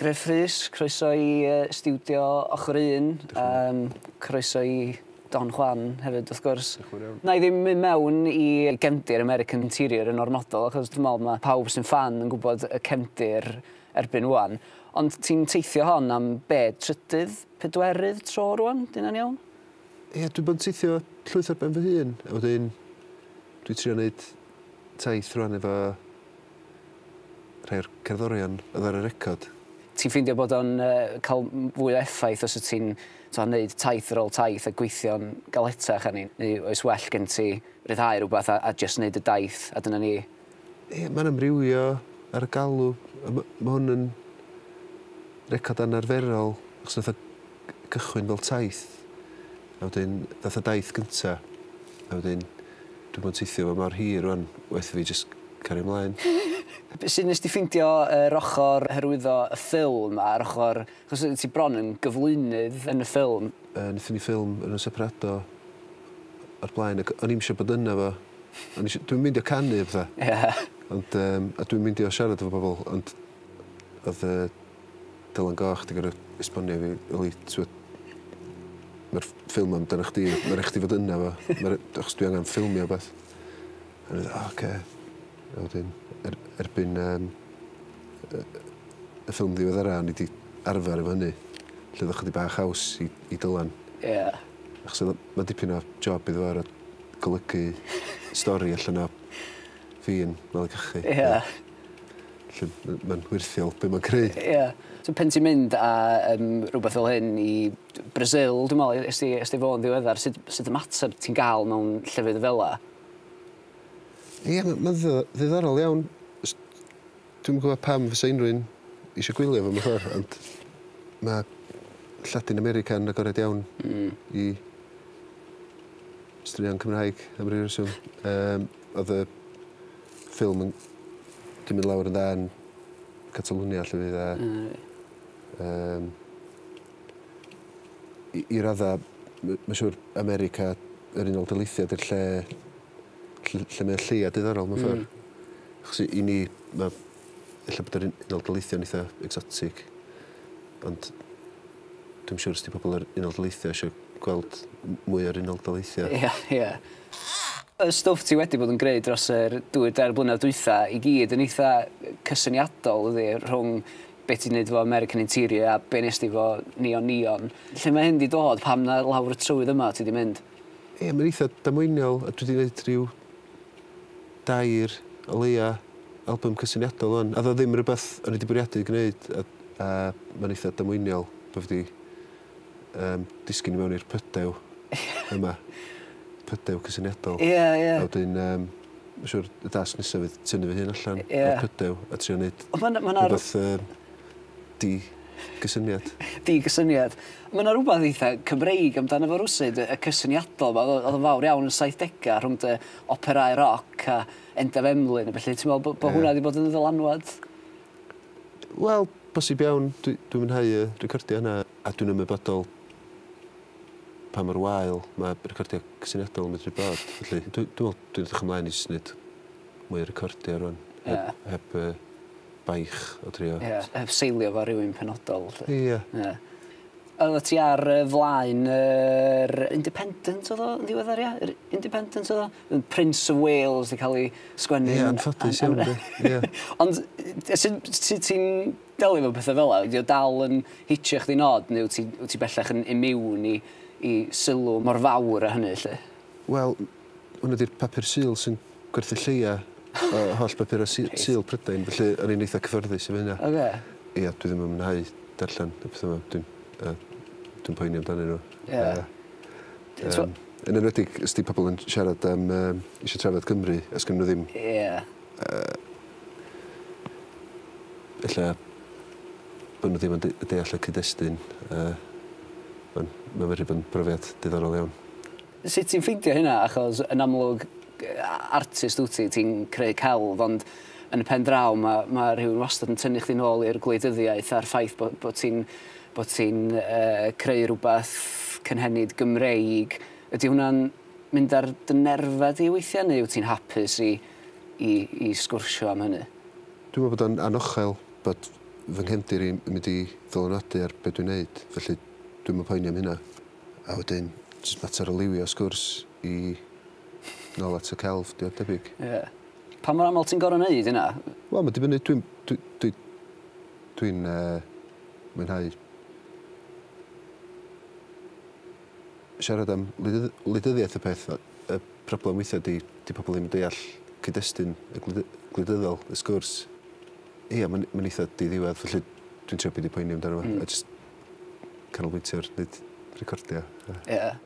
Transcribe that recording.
Gruff Rhys, croeso i stiwdio Ochr Un. Croeso i Don Juan hefyd, wrth gwrs. Na i ddim mynd mewn i gefndir American Interior yn ormodol, achos dwi'n meddwl mae pawb sy'n ffan yn gwybod y cefndir erbyn ŵan. Ond ti'n teithio hon am be, trydydd, pedwerydd tro rŵan? 'Di hynna'n iawn? Ie, dwi bod yn teithio llwyth ar ben fy hun, a wedyn dwi trio neud taith rŵan efo rhai o'r cerddorion oedd ar y record. Ti'n ffeindio bod o'n cael fwy o effaith os wyt ti'n t'o' neud taith ar ôl taith a gweithio'n galetach arni, neu oes well gen ti ryddhau rwbath a jyst neud y daith a dyna ni? Ie, mae'n amrywio ar y galw. A ma' hwn yn record anarferol, achos nath o gychwyn fel taith, a wedyn ddath y daith gynta, a wedyn dwi 'di bod yn teithio fo mor hir rŵan, waeth i fi jyst cario mlaen. Sut nes di ffeindio yr ochr hyrwyddo y ffilm a'r ochr, achos ti bron yn gyflwynydd yn y ffilm? Nethon ni ffilm yn y Separado o'r blaen, ac o'n i'm isio bod yna fo. O'n i isio, dwi'n meindio canu a petha. Ond a dwi'n meindio siarad efo bobl, ond o'dd Dylan Goch 'di gor'o' esbonio i fi, yli, t'wod, ma'r ffilm amdano chdi, ma' rai' chdi fod yna fo, achos dwi angan ffilmio wbath. A o'n i fatha, o ocê. A wedyn erbyn y ffilm ddiweddara o'n i 'di arfer efo hynny, lle o'dd o chydig bach haws i Dylan. Achos o'dd o, ma'n dipyn o job iddo fo or'o' golygu stori allan o fi yn malu cachu. Felly ma'n wyrthiol be' ma'n creu. Ie. So pen ti'n mynd â rhywbeth fel hyn i Brazil, dwi'n meddwl, es di fo yn ddiweddar, sut ymateb ti'n gael mewn llefydd fel 'a? Ie, ma'n ddiddorol iawn. Dwi'm yn gwybod pam fysa unrhyw un eisiau gwylio fo mewn ffordd, ond mae Lladin America yn agored iawn i straeon Cymraeg am ryw reswm. Oedd y ffilm yn 'di mynd lawr yn dda yn Catalwnia llefydd a i radda ma' siŵr America, yr Unol Daleithiau 'di'r lle lle mae o lleia diddorol mewn ffordd. Achos i ni ma' ella bod yr Unol Daleithiau'n eitha exotic, ond dwi'm siŵr os 'di pobl yr Unol Daleithiau eisiau gweld mwy o'r Unol Daleithiau. Ie, ie. Y stwff ti wedi bod yn greu dros yr 2-3 blynedd dwytha i gyd yn eitha cysyniadol ydi, rhwng be ti'n neud efo American Interior a be nes di efo Neon Neon. Lle mae hyn 'di dod? Pam na lawr y trywydd yma ti 'di mynd? Ie, mae'n eitha damweiniol, a dwi 'di neud rhyw dair o leia album cysyniadol ŵan. A o'dd o ddim rywbeth o'n i 'di bwriadu gwneud, a mae'n eitha damweiniol bo' fi 'di disgyn i mewn i'r pydew yma. Pydew cysyniadol. Ie, ie. A wedyn mae'n siŵr y dasg nesaf fydd tynnu fy hun allan o'r pydew a trio neud rhywbeth di-gysyniad. Di-gysyniad. Mae yna rhywbeth eitha Cymreig amdano fo rywsut, y cysyniadol 'ma, oedd o'n fawr iawn yn 70au rhwng dy operâu roc a Endaf Emlyn a felly, ti'n meddwl bod hwnna wedi bod yn ddylanwad? Wel, bosib iawn. Dwi'n mwynhau y recordio yna, a dwi'n ymwybodol pa mor wael mae recordio cysyniadol yn medru bod. Felly, dwi'n meddwl dwi'n edrych ymlaen i jyst wneud mwy o recordio rŵan. Heb baich o drio. Ie, heb seilio fo ar rywun penodol. Ie. Ie. Oeddet ti ar flaen yr Independent oedd o yn ddiweddar, ia? Yr Independent oedd o? Prince of Wales 'di cael ei sgwennu. Ie, anffodus iawn, de. Ie. Ond sut ti'n delio efo pethau fel 'na? Ydy o dal yn hitio chdi'n od, neu wyt ti bellach yn immune i sylw mor fawr â hynny, 'lly? Wel, hwnna 'di'r papur Sul sy'n gwerthu lleia o holl bapurau Sul Prydain, felly o'n i'n eitha cyffyrddus efo hynna. Ie, dwi ddim yn mwynhau darllen y pethau yma. Dwi'n poeni amdanyn nhw. Yn enwedig os 'di pobl yn siarad am eisiau trafod Cymru, os gynnu nhw ddim... Ella bod nhw ddim yn deall y cyd-destun. Mae'n medru bod yn brofiad diddorol iawn. Sut ti'n ffeindio hynna? Achos yn amlwg artist wyt ti, ti'n creu celf, ond yn y pen draw ma rhywun wastad yn tynnu chdi nôl i'r gwleidyddiaeth a'r ffaith bod ti'n creu rhywbeth cynhenid Gymreig. Ydy hwnna'n mynd ar dy nerfau di weithiau, neu wyt ti'n hapus i sgwrsio am hynny? Dwi'n meddwl bod o'n anochel bod fy nghefndir i'n mynd i ddylanwadu ar be dwi'n neud, felly dwi'm yn poeni am hynna. A wedyn, jyst mater o liwio sgwrs i nôl at y celf, di o debyg. Ie. Yeah. Pa mor aml ti'n gorfod neud hynna? Wel, mae'n dibynnu, dwi'n dwi, dwi, dwi mwynhau siarad am wleidyddiaeth y peth. Y problem weithiau di pobl ddim yn deall cyd-destun y gwleidyddol, y sgwrs. Ia, mae'n ma eitha diddiwedd, felly dwi'n trio beidio poeni amdano fo. A jyst canolbwyntio ar wneud recordio. Ie. Yeah.